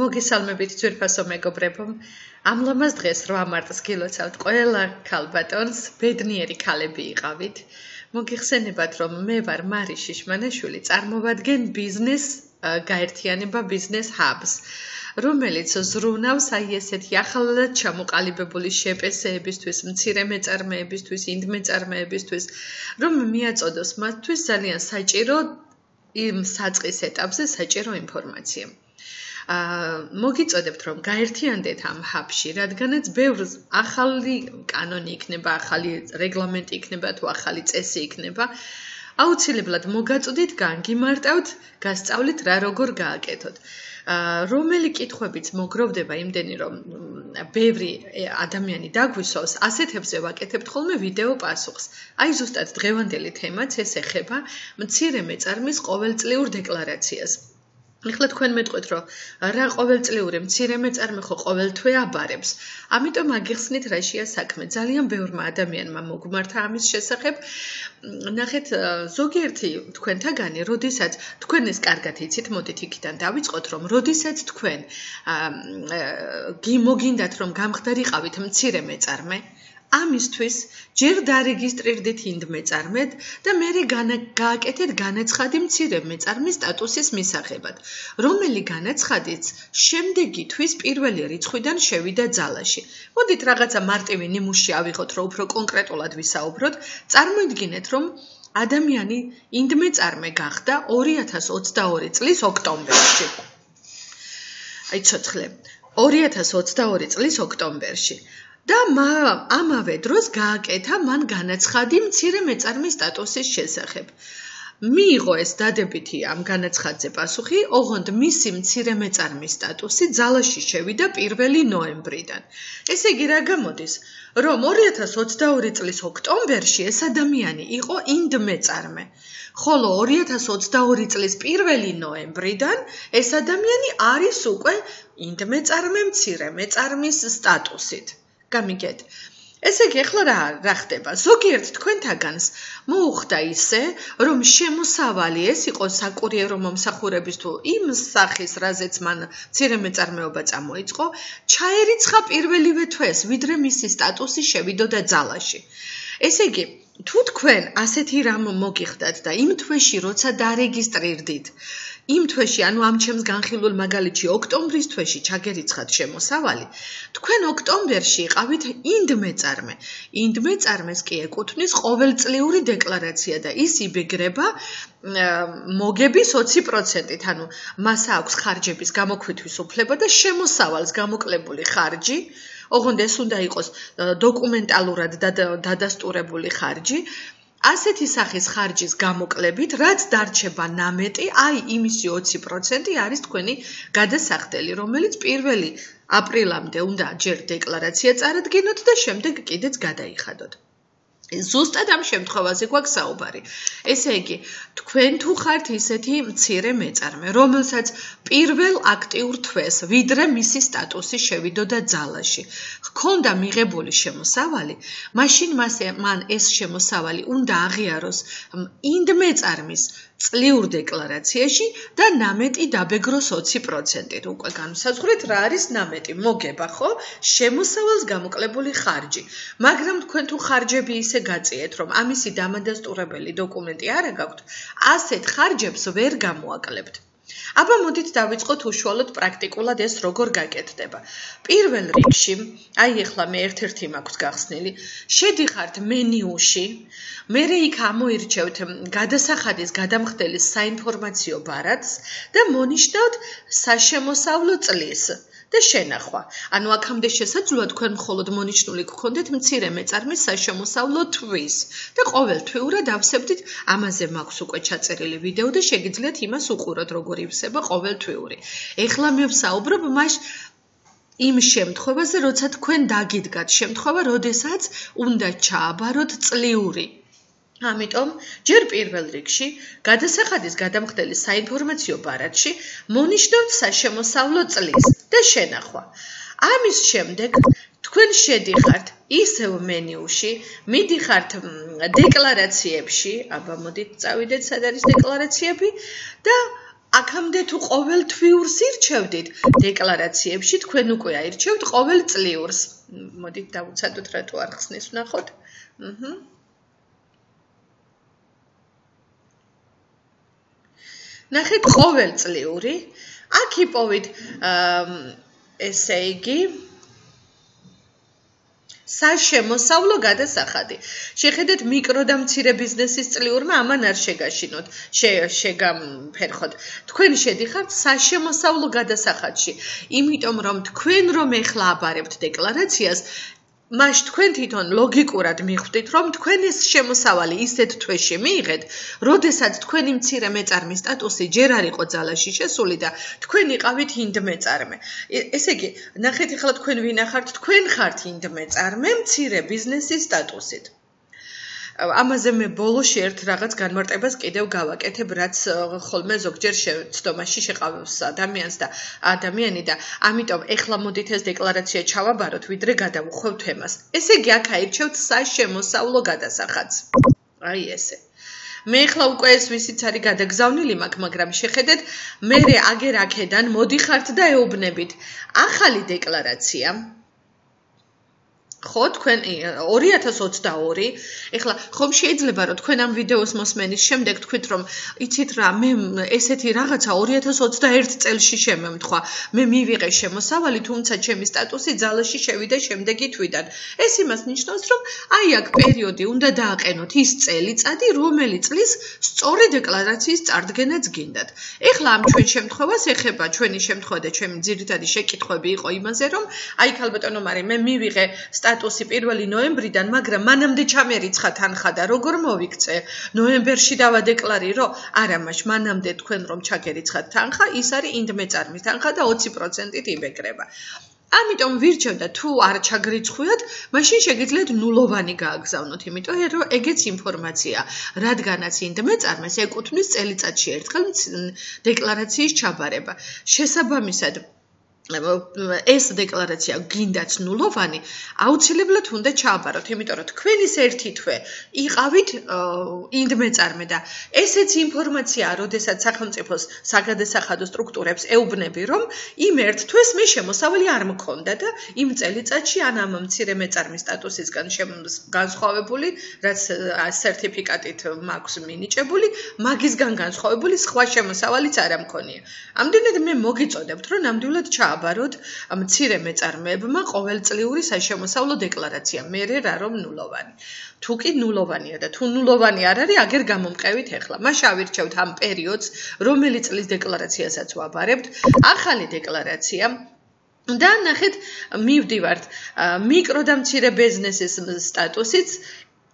მოგესალმებით ძვირფასო მეგობრებო. ამ ლამაზ დღეს 8 მარტს გილოცავთ ყველა ქალბატონს, ბედნიერი ქალები იყავით. მოგიხსენებათ, რომ მე ვარ მარი შიშმანაშვილი, წარმოვადგენ ბიზნეს გაერთიანება ბიზნეს ჰაბს, რომელიც ზრუნავს აი ესეთი ახალად ჩამოყალიბებული შეპესეებისთვის, მცირე მეწარმეებისთვის, ინდმეწარმეებისთვის, რომ მიაწოდოს მათთვის ძალიან საჭირო იმ საწყის ეტაპზე საჭირო ინფორმაცია. მოგიწოდებთ რომ გაერთიანდეთ ამ ჰაბში, რადგანაც ბევრ ახალი კანონი იქნება, ახალი რეგლამენტი იქნება თუ ახალი წესი იქნება. აუცილებლად მოგაწოდით, განგიმარტავთ, გასწავლით რა როგორ გააკეთოთ. რომელი კითხვებიც მოგროვდება იმდენი რომ ბევრი ადამიანი დაგვისვავს, ასეთებზე ვაკეთებთ ხოლმე ვიდეო პასუხს. აი ზუსტად დღევანდელი თემაც ეს ეხება მცირე მეწარმის ყოველწლიურ დეკლარაციას. ეხლა თქვენ მეტყვით, რომ რა ყოველწლიური მცირე მეწარმე ხო ყოველთვე აბარებს. ამიტომ აგიხსნით რაშია საქმე. ძალიან ბევრმა ადამიანმა მოგმართა ამის შესახებ. ნახეთ, ზოგიერთი თქვენთაგანი, როდესაც თქვენ ეს კარგად იცით, მოდით იქიდან დავიწყოთ, რომ როდესაც თქვენ მოგინდათ რომ გამხდარიყავით მცირე მეწარმე, ამისთვის ჯერ დარეგისტრირდით ინდმეწარმედ და მერე გააკეთეთ განაცხადი მცირე მეწარმის სტატუსის მისაღებად, რომელი განაცხადიც შემდეგი თვის პირველი რიცხვიდან შევიდა ძალაში. მოდით რაღაცა მარტივი ნიმუში ავიღოთ, რომ უფრო კონკრეტულად ვისაუბროთ. წარმოიდგინეთ, რომ ადამიანი ინდმეწარმე გახდა 2022 წლის ოქტომბერში. აი ცოცხლე. 2022 წლის ოქტომბერში. და ამავე დროს გააკეთა მან განაცხადი მცირე მეწარმის სტატუსის შესახებ. მიიღო ეს დადებითი ამ განაცხადზე პასუხი, ოღონდ მისი მცირე მეწარმის სტატუსი ძალაში შევიდა 1 ნოემბრიდან. ესე იგი რა გამოდის, რომ 2022 წლის ოქტომბერში ეს ადამიანი იყო ინდმეწარმე, ხოლო 2022 წლის 1 ნოემბრიდან ეს ადამიანი არის უკვე ინდმეწარმე მცირე მეწარმის სტატუსით. გამიგეთ. ესე იგი, ახლა რა ხდება? ზოგიერთ თქვენთაგანს მოუხდა ისე, რომ შემოსავალი ეს იყო საკურიერო მომსახურების თუ იმ სახის, რაზეც მან მცირე მეწარმეობა წამოიწყო, ჩაერიცხა პირველივე თვეს, ვიდრე მისი სტატუსი შევიდოდა ძალაში. ესე იგი, თუ თქვენ ასეთი რამ მოგიხდათ და იმ თვეში როცა დარეგისტრირდით, იმ თვეში, ანუ ამ ჩემს განხილულ მაგალითში ოქტომბრის თვეში ჩაგერიცხათ შემოსავალი, თქვენ ოქტომბერში იყავით ინდმეწარმე. ინდმეწარმეს კი ეკუთვნის ყოველწლიური დეკლარაცია და ის იბეგრება მოგების 20%-ით, ანუ მას აქვს ხარჯების გამოქვთვის უფლება და შემოსავალს გამოკლებული ხარჯი, ოღონდ ეს უნდა იყოს დოკუმენტალურად დადასტურებული ხარჯი. ასეთი სახის ხარჯის გამოკლებით, რაც დარჩება ნამეტი, აი იმისი 20% არის თქვენი გადასახდელი, რომელიც 1 აპრილამდე უნდა ჯერ დეკლარაცია წარადგინოთ და შემდეგ კიდეც გადაიხადოთ. ზუსტად ამ შემთხვევაზე გვაქვს საუბარი. ესე იგი, თქვენ თუ ხართ ისეთი მცირე მეწარმე, რომელსაც პირველ აქტიურ თვეს, ვიდრე მისი სტატუსი შევიდოდა ძალაში, ჰქონდა მიღებული შემოსავალი, მაშინ მან ეს შემოსავალი უნდა აღიაროს ინდმეწარმის წლიურ დეკლარაციაში და ნამეტი დაბეგროს 20%-ით. უკვე განსაზღვრეთ რა არის ნამეტი, მოგება ხო? შემოსავალს გამოკლებული ხარჯი. მაგრამ თქვენ თუ ხარჯები ისე გაწიეთ, რომ ამისი დამადასტურებელი დოკუმენტი არ გაქვთ, ასეთ ხარჯებს ვერ გამოაკლებთ. აბა მოდით დავიწყოთ უშუალოდ პრაქტიკულად ეს როგორ გაკეთდება. პირველ რიგში, აი ახლა მე ერთ-ერთი მაქვს გახსნილი, შედიხართ მენიუში, მერე იქ ამოირჩევთ გადასახადის გადამხდელის საინფორმაციო ბარათს და მონიშნავთ საშემოსავლო წლის და შენახვა. ანუ აქამდე შესაძლოა თქვენ მხოლოდ მონიშნული გქონდეთ მცირე მეწარმის საშემოსავლო თვის და ყოველთვიურად ავსებდით, ამაზე მაქვს უკვე ჩაწერილი ვიდეო და შეგიძლიათ იმას უყუროთ, როგორ ივსება ყოველთვიური. ეხლა მე ვსაუბრობ იმ შემთხვევაზე, როცა თქვენ დაგიდგათ შემთხვევა, როდესაც უნდა ჩააბაროთ წლიური. ამიტომ ჯერ პირველ რიგში გადასახადის გადამხდელის საინფორმაციო ბარათში მონიშნავთ საშემოსავლო წლის და შენახვა. ამის შემდეგ თქვენ შედიხართ ისევ მენიუში, მიდიხართ დეკლარაციებში, აბა მოდით წავიდეთ, სად არის დეკლარაციები და აქამდე თუ ყოველთვიურს ირჩევდით დეკლარაციებში, თქვენ უკვე აირჩევთ ყოველწლიურს. მოდით დავუცადოთ რატო არ ხსნის ვნახოთ. ნახეთ ყოველწლიური. აქ იპოვით ესე იგი საშემოსავლო გადასახადი. შეხედეთ მიკრო და მცირე ბიზნესის წლიურმა ამან არ შეგაშინოთ, შეგამფერხოთ. თქვენ შედიხართ საშემოსავლო გადასახადში, იმიტომ რომ თქვენ რომ ეხლა აბარებთ დეკლარაციას, მაშ თქვენ თვითონ ლოგიკურად მიხვდით, რომ თქვენ ეს შემოსავალი ისეთ თვეში მიიღეთ, როდესაც თქვენი მცირე მეწარმის სტატუსი ჯერ არ იყო ძალაში შესული და თქვენ იყავით ინდ მეწარმე. ესე იგი, ნახეთ ახლა თქვენ ვინახართ, თქვენ ხართ ინდ მეწარმე მცირე ბიზნესის სტატუსით. ამაზე მე ბოლოში ერთ რაღაც განმარტებას კიდევ გავაკეთებ, რაც ხოლმე ზოგჯერ ცდომაში შეყავს ადამიანს და ადამიანი და ამიტომ ეხლა მოდით ეს დეკლარაცია ჩავაბაროთ, ვიდრე გადავუხვევ თემას. ესე იგი, აქ აირჩევთ საშემოსავლო გადასახადს. აი ესე. მე ეხლა უკვე ეს ვისიც არის გადაგზავნილი მაქვს, მაგრამ შეხედეთ, მე აგერ აქედან მოდიხართ და ეუბნებით. ახალი დეკლარაცია ხო თქვენ 2022 ეხლა ხომ შეიძლება რომ თქვენ ამ ვიდეოს მოსმენის შემდეგ თქვით რომ იცით რა მე ესეთი რაღაცა 2021 წელში შემემთხვა მე მივიღე შემოსავალი თუმცა ჩემი სტატუსი ძალაში შევიდა შემდეგი თვიდან ეს იმას ნიშნავს რომ აი აქ პერიოდი უნდა დააყენოთ ის წელიწადი რომელიც წლის სწორი დეკლარაციის წარდგენაც გინდათ ეხლა ამ ჩვენ შემთხვევას ეხება ჩვენი შემთხვევა და ჩემი ძირითადი შეკითხვები იყო იმაზე რომ აი ქალბატონო მარი მე მივიღე სტატუსი 1 ნოემბრიდან, მაგრამ მანამდე ჩამერიცხა თანხა და როგორ მოვიქცე? ნოემბერში დავადეკლარირო? არა, მაშ მანამდე თქვენ რომ ჩაგერიცხათ თანხა, ის არის ინდ მეწარმის თანხა და 20%-ით იბეკრება. ამიტომ ვირჩევ და თუ არ ჩაგრიცხვიათ, მაშინ შეგიძლიათ ნულოვანი გააგზავნოთ, იმიტომ რომ ეგეც ინფორმაცია, რადგანაც ინდ მეწარმეს ეკუთვნის წელიწადში ერთხელ დეკლარაციის ჩაბარება. შესაბამისად ეს დეკლარაცია გინდაც ნულოვანი, აუცილებლად უნდა ჩააბაროთ, იმიტომ რომ თქვენ ის ერთი თვე იყავით ინდ მეწარმე და ესეც ინფორმაცია, როდესაც სახელმწიფოს საგადასახადო სტრუქტურებს ეუბნები, რომ იმ ერთ თვეს მე შემოსავალი არ მქონდა და იმ წელიწადში ან ამ მცირე მეწარმის სტატუსისგან განსხვავებული, რაც სერტიფიკატით მაქვს მინიჭებული, მაგისგან განსხვავებული სხვა შემოსავალიც არ მქონია. ამდენად მე მოგიწოდებთ, რომ ნამდვილად აბაროთ მცირე მეწარმეებმა ყოველწლიური საშემოსავლო დეკლარაცია მერე რა რომ ნულოვანი თუ კი ნულოვანია და თუ ნულოვანი არ არის აგერ გამომყევით ეხლა მაშ ავირჩევთ ამ პერიოდს რომელიც წლის დეკლარაციასაც ვაბარებთ ახალი დეკლარაცია და ნახეთ მივდივართ მიკრო და მცირე ბიზნესის სტატუსიც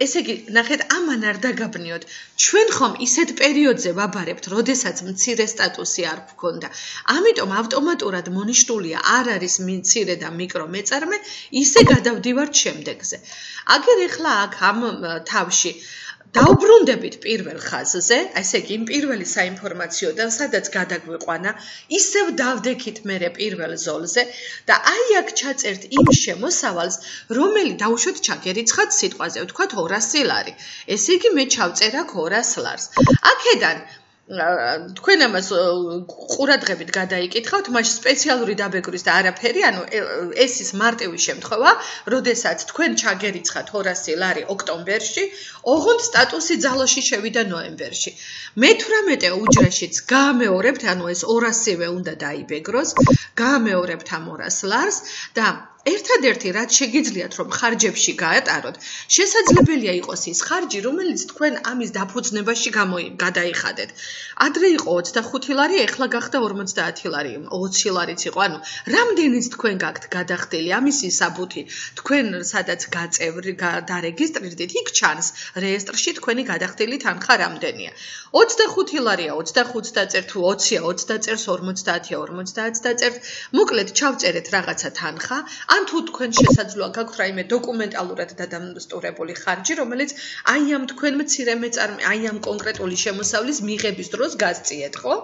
ესე იგი, ნახეთ, ამან არ დაგაბნიოთ. ჩვენ ხომ ისეთ პერიოდზე ვაბარებთ, როდესაც მცირე სტატუსი არ გვქონდა. ამიტომ ავტომატურად მონიშნულია არ არის მცირე და მიკრო მეწარმე, ისე გადავდივართ შემდეგზე. აგერ ეხლა აქ ამ თავში დაუბრუნდებით პირველ ხაზზე, ესე იგი, იმ პირველი საინფორმაციოდან, სადაც გადაგვიყვანა, ისევ დავდექით მერე პირველ ზოლზე და აი აქ ჩაწერთ იმ შემოსავალს, რომელიც დაუშვათ ჩაგერიცხათ სიტყვაზე, ვთქვათ 200 ლარი. ესე იგი, მე ჩავწერ აქ 200 ლარს. აქედან თქვენ ამას ყურადღებით გადაიკითხავთ, მაშ სპეციალური დაბეგვრის და არაფერი, ანუ ეს ის მარტივი შემთხვევა, როდესაც თქვენ ჩაგერიცხათ 200 ლარი ოქტომბერში, ოღონდ სტატუსი ძალაში შევიდა ნოემბერში. მე-18 უჯრაშიც გაამეორებთ, ანუ ეს 200-ვე უნდა დაიბეგროს, გაამეორებთ ამ 200 ლარს და ერთადერთი რაც შეგიძლიათ რომ ხარჯებში გაატაროთ, შესაძლებელია იყოს ის ხარჯი, რომელიც თქვენ ამის დაფუძნებაში გადაიხადეთ. ადრე იყო 25 ლარი, ეხლა გახდა 50 ლარი, 20 ლარიც იყო. ანუ რამდენიც თქვენ გაქვთ გადახდილი ამისი საბუთი, თქვენ სადაც დარეგისტრირდით, იქ ჩანს რეესტრში თქვენი გადახდილი თანხა რამდენია. 25 ლარია, 25-ს დაწერთ, თუ 20-ია, 20 დაწერს, 50-ია, 50-ს დაწერთ. მოკლედ ჩავწერეთ რაღაცა თანხა. ან თუ თქვენ შესაძლოა გაქვთ რაიმე დოკუმენტალურად დადასტურებული ხარჯი, რომელიც აი ამ თქვენ მცირე მეწარმე, აი ამ კონკრეტული შემოსავლის მიღების დროს გასწიეთ, ხო?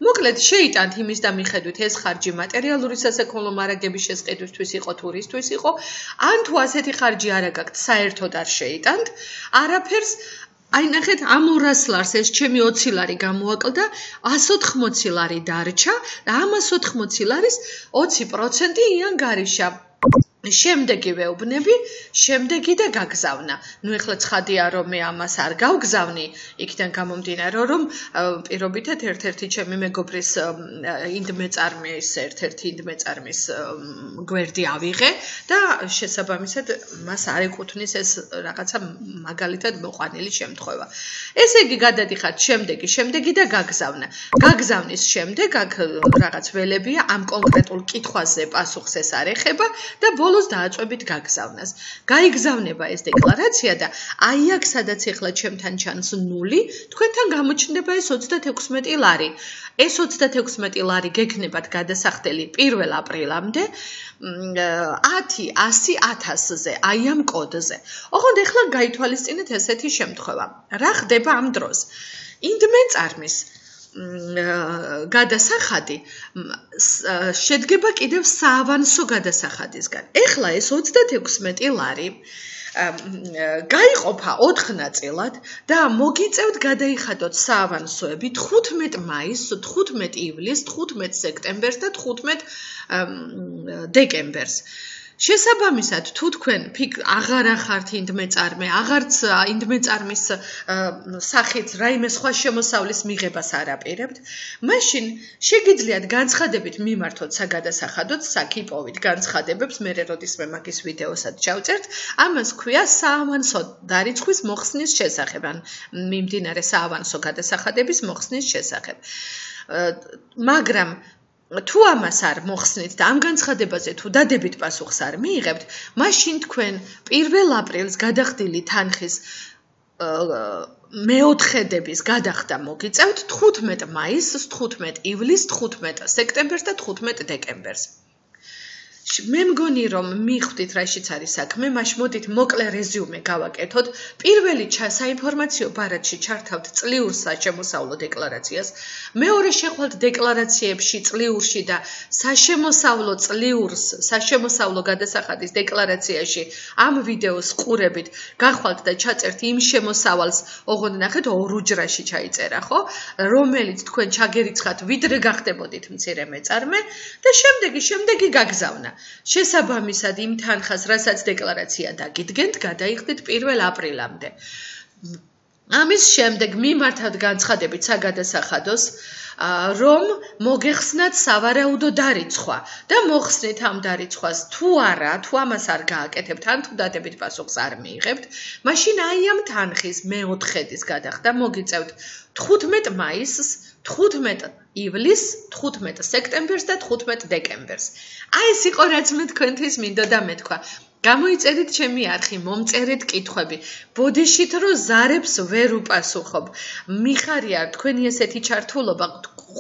მოკლედ შეიტანთ იმის და მიხედვით ეს ხარჯი მატერიალური სასაქონლო მარაგების შესყიდვისთვის იყო, თურისთვის იყო, ან თუ ასეთი ხარჯი არ გაქვთ, საერთოდ არ შეიტანთ, არაფერს აი ნახეთ ამ 200 ლარს ეს ჩემი 20 ლარი გამოაკლდა 180 ლარი დარჩა და ამ 180 ლარის 20% იანგარიშა შემდეგი ვეუბნები, შემდეგი და გაგზავნა. ნუ ეხლა ცხადია რომ მე ამას არ გავგზავნი, იქიდან გამომდინარე რომ პირობითად ერთ-ერთი ჩემი მეგობრის ინდმეწარმის გვერდი ავიღე და შესაბამისად მას არ ეკუთვნის ეს რაღაცა მაგალითად მოყვანილი შემთხვევა. ესე იგი გადადიხართ შემდეგი და გაგზავნა. გაგზავნის შემდეგ აქ რაღაც ველებია ამ კონკრეტულ კითხვაზე პასუხს ეს არ ეხება და ბოლოს დააწვევით გაგზავნას. გაიგზავნება ეს დეკლარაცია და აი აქ სადაც ეხლა ჩემთან ჩანს 0, თქვენთან გამოჩნდება ეს 36 ლარი. ეს 36 ლარი გექნებათ გადასახდელი 1 აპრილამდე 10, 100, 1000-ზე, აი ამ კოდზე. ოღონდ ეხლა გაითვალისწინეთ ესეთი შემთხვევა. რა ხდება ამ დროს? ინდმეწარმის გადასახადი შედგება კიდევ საავანსო გადასახადისგან. ეხლა ეს 36 ლარი გაიყოფა 4 ნაწილად და მოგიწევთ გადაიხადოთ საავანსოები 15 მაისს, 15 ივლისს, 15 სექტემბერს და 15 დეკემბერს. შესაბამისად, თუ თქვენ აღარ ახართ ინდმეწარმე, აღარც ინდმეწარმის სახით რაიმე სხვა შემოსავლის მიღებას არ აპირებთ, მაშინ შეგიძლიათ განცხადებით მიმართოთ საგადასახადოდ, საკიპოვით განცხადებებს, მე როდისმე მაგის ვიდეოსაც ჩავწერთ, ამას ქვია საავანსო დარიცხვის მოხსნის შესახებ, ან მიმდინარე საავანსო გადასახადების მოხსნის შესახებ. მაგრამ თუ ამას არ მოხსნით და ამ განცხადებაზე თუ დადებით პასუხს არ მიიღებთ, მაშინ თქვენ 1 აპრილს გადახდილი თანხის მეოთხედების გადახდა მოგიწევთ 15 მაისს, 15 ივლისს, 15 სექტემბერს და 15 დეკემბერს. მე მგონი რომ მიხვდით რაშიც არის საქმე, მაშ მოდით მოკლე რეზიუმე გავაკეთოთ. პირველი საინფორმაციო ბარათში ჩართავთ წლიურ საშემოსავლო დეკლარაციას, მეორე შეხვალთ დეკლარაციებში წლიურში და საშემოსავლო წლიურს, საშემოსავლო გადასახადის დეკლარაციაში ამ ვიდეოს ყურებით გახვალთ და ჩაწერთ იმ შემოსავალს, ოღონდ ნახეთ ორ უჯრაში ჩაიწერა, ხო? რომელიც თქვენ ჩაგერიცხათ, ვიდრე გახდებოდით მცირე მეწარმე და შემდეგი გაგზავნა. შესაბამისად იმ თანხას, რასაც დეკლარაცია დაგიდგენთ, გადაიხდით 1 აპრილამდე. ამის შემდეგ მიმართავთ განცხადებით საგადასახადოს, რომ მოგეხსნათ სავარაუდო დარიცხვა და მოხსნით ამ დარიცხვას თუ არა, თუ ამას არ გააკეთებთ, ან თუ დადებით პასუხს არ მიიღებთ, მაშინ აი ამ თანხის მეოთხედის გადახდა მოგიწევთ 15 მაისს, 15 ივლისს, 15 სექტემბერს და 15 დეკემბერს. აი ეს იყო რაც მე თქვენთვის მინდოდა მეთქვა. გამოიწერით ჩემი არხი, მომწერეთ კითხვები. ბოდიშით რო ზარებს ვერ უპასუხობ. მიხარია თქვენი ესეთი ჩართულობა,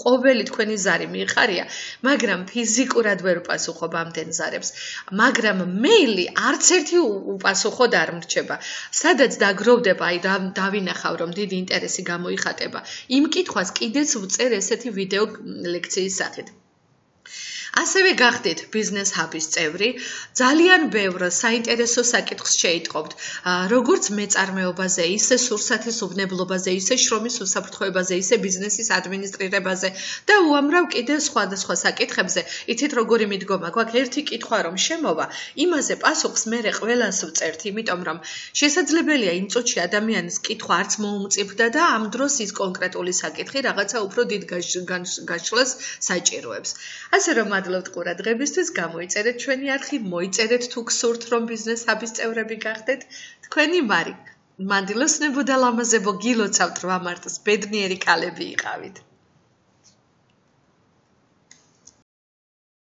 ყოველი თქვენი ზარი მიხარია, მაგრამ ფიზიკურად ვერ უპასუხობ ამდენ ზარებს. მაგრამ მეილი არც ერთი უპასუხოდ არ მრჩება. სადაც დაგროვდება, აი დავინახავ რომ დიდი ინტერესი გამოიხატება. იმ კითხვას კიდეც ვწერ ესეთი ვიდეო ლექციის სახით. ასევე გახდით ბიზნეს ჰაბის წევრი, ძალიან ბევრ საინტერესო საკითხს შეიტყობთ, როგორც მეწარმეობაზე, ისე სურსათის უბნებლობაზე, ისე შრომის უსაფრთხოებაზე, ისე ბიზნესის ადმინისტრირებაზე და უამრავ კიდევ სხვადასხვა საკითხებზე. იცით როგორი მიდგომა გვაქვს, ერთი კითხვა რომ შემოვა, იმაზე პასუხს მე ყველას ვწერთ, იმიტომ რომ შესაძლებელია იმ წუთში ადამიანის კითხვა არც მოუმწიფდა და ამ დროს ის კონკრეტული საკითხი რაღაცა უფრო დიდ გაშლას საჭიროებს. ასე რომ მადლობთ ყურადღებისთვის, გამოიწერეთ ჩვენი არხი, მოიწერეთ თუ გსურთ რომ ბიზნეს ჰაბის წევრები გახდეთ. თქვენი მარი მანდილოსნებო და ლამაზებო, გილოცავთ 8 მარტს, ბედნიერი კალები იყავით.